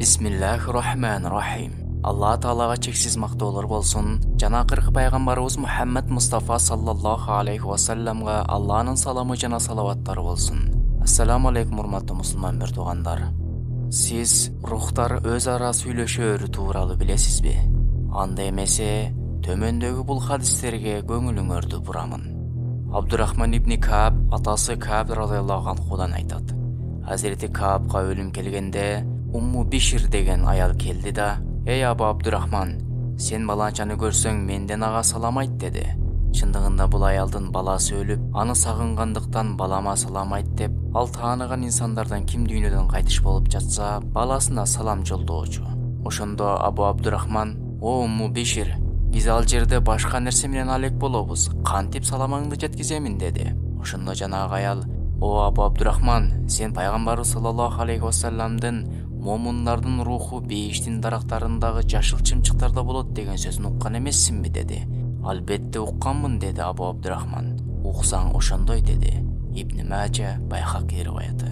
Бисмиллахир-рахманир-рахим. Алла Таалага чексиз мактоолор болсун. Жана акыркы пайгамбарыбыз Мухаммад Мустафа саллаллаху алейхи ва салламга Алланын саламы жана салаваттары болсун. Ассаламу алейкум урматтуу мусулман туугандар. Сиз рухтар өз ара сүйлөшөөрү тууралуу билесизби? Анда эмесе, төмөндөгү бул хадистерге көңүлүңөрдү бурамын. Абдурахман ибн Кааб атасы Кааб радыйаллаху анхудан айтат. Hazreti Kaab'га өлүм келгенде Умму Бишир деген аял келди да: "Эй Абу Абдурахман, сен баланчаны көрсөң менден ага салам айт" деди. Чындыгында бул аялдын баласы өлүп, аны сагынгандыктан балама салам айт деп, ал тааныган инсандардан ким дүйнөдөн кайтыш болуп жатса, баласына салам жолдоочу. Ошондо Абу Абдурахман: "О Умму Бишир, биз ал жерде башка нерсе менен алек болобуз. Кантип саламыңды жеткиземин" деди. Ошондо жанагы аял: "О Абу Абдурахман, сен пайгамбарыбыз саллаллаху алейхи ва салламдын момундардын руху бейиштин дарактарындагы жашыл чымчыктарда болот деген сөзүн уккан эмессиңби" деди. "Албетте укканмын" деди Абу Абдурахман. "Уксаң ошондой" деди. Ибн Мажа, Байхаки риваяты.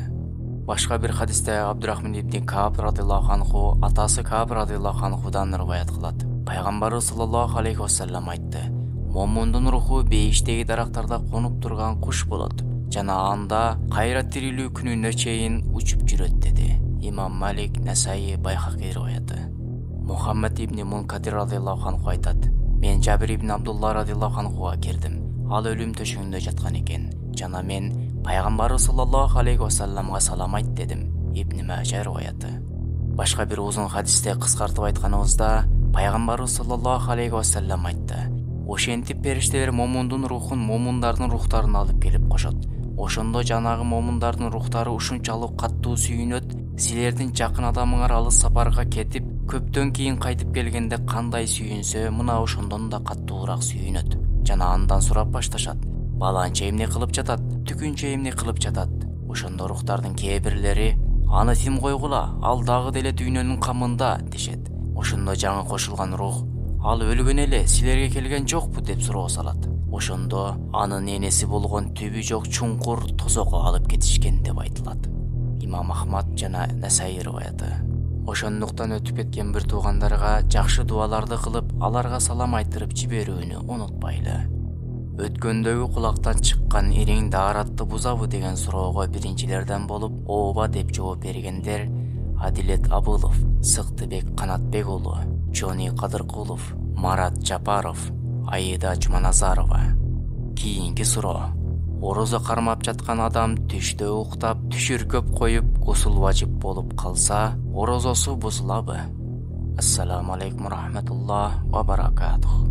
Башка бир хадисте Абдурахман ибн Кааб радыйаллаху анху атасы Кааб радыйаллаху анхудан риваят кылат. Пайгамбарыбыз саллаллаху алейхи ва саллам айтты: "Момундун руху бейиштеги дарактарда конуп турган куш болот жана анда кайра тирилүү күнүнө чейин учуп жүрөт" деди. Имам Малик, Насаи, Байхаки риваяты. Мухаммад ибн Мункадир радыйаллаху анху айтат: "Мен Жабир ибн Абдулла радыйаллаху анхуга кирдим. Ал өлүм төшөгүндө жаткан экен. Жана мен пайгамбарыбыз саллаллаху алейхи ва салламга салам айт" дедим. Ибн Мажа риваяты. Башка бир узун хадисте кыскартып айтканыбызда, пайгамбарыбыз саллаллаху алейхи ва саллам айтты: "Ошентип периштелер момундун рухун момундардын рухтарына алып келип кошот. Ошондо жанагы момундардын рухтары ушунчалык каттуу сүйүнөт, силердин жакын адамыңар алыс сапарга кетип, көптөн кийин кайтып келгенде кандай сүйүнсө, мына ошондон да каттуураак сүйүнөт. Жана андан сурап башташат: баланча эмне кылып жатат, түкүнчө эмне кылып жатат. Ошондо рухтардын кээ бирлери: аны тим койгула, ал дагы деле дүйнөнүн камында" дешет. Ошондо жаңы кошулган рух: "Ал өлгөн эле, силерге келген жокпу" деп суроо салат. Ошондо анын энеси болгон түбү жок чуңкур тозокко алып кетишкен деп айтылат. Имам Ахмад жана Насаи риваяты. Ошондуктан өтүп кеткен бир туугандарга жакшы дуаларды кылып, аларга салам айтырып жиберүүнү унутпайлы. Өткөндөгү кулактан чыккан ириң daarатты бузабы деген суроого биринчилерден болуп ооба деп жооп бергендер Адилет Абылов, Сыктыбек Канатбек уулу, Жони Кадыркулов, Марат Жапаров, Аида Жуманазарова. Кийинки суроо: орозо кармап жаткан адам түштө уктап, түшүркөп коюп, гусул важип болуп калса, орозосу бузулабы? Ассаламу алейкум рахматуллах ва баракатух.